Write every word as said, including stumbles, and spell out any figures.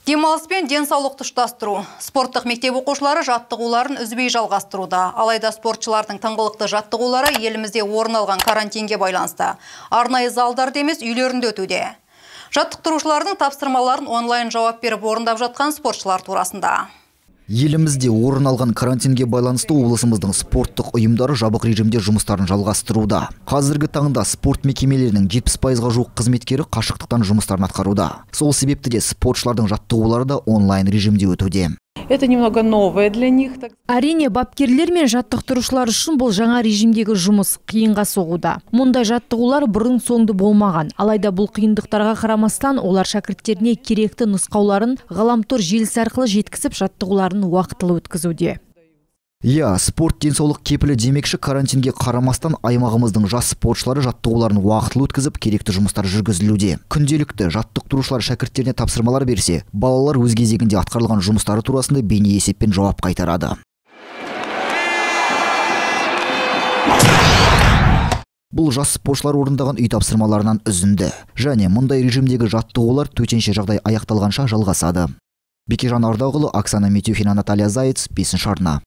Демалыс пен денсаулықты ұштастыру. Спорттық мектеп оқушылары жаттығуларын үзбей жалғастыруда. Алайда спортшылардың тыңғылықты жаттығулары елімізде орын алған карантинге байланысты. Арнайы залдарда емес, үйлерінде өтуде. Жаттықтырушылардың тапсырмаларын онлайн жауап беріп орындап жатқан спортшылар турасында. Елімізде орын алған карантинге байланысты облысымыздың спорттық ұйымдары жабық режимде жұмыстарын жалғастыруда. Қазіргі таңда спорт мекемелерінің жетпіс пайызға жуық қызметкері қашықтықтан жұмыстарын атқаруда. Сол себепті де спортшылардың жаттығулары да онлайн режимде өтуде. Это немного новое для них. Әрине, бапкерлер мен жаттықтырушылар үшін бұл жаңа режимдегі жұмыс қиынға соғуда. Мұндай жаттығулар бұрын соңды болмаған. Алайда бұл қиындықтарға қарамастан олар шәкірттеріне керекті нұсқауларын ғаламтор желісі арқылы жеткізіп жаттығуларын уақытылы өткізуде. Я, спорт денсаулық кепілі демекші, карантинге қарамастан аймағымыздың жас спортшылары жаттығуларын уақытылы өткізіп, керекті жұмыстар жүргізілуде. Күнделікті жаттықтырушылар шәкірттеріне тапсырмалар берсе, балалар өз кезегінде атқарылған жұмыстары турасында бейне есеппен жауап қайтарады. Бұл жас спортшылар орындаған үй тапсырмаларынан үзінді. Және мұндай режимдегі жаттығулар төтенше жағдай аяқталғанша жалғасады. Бекежан Ардағұлы, Оксана Метюхина, Наталья Заяц, бесінші арна.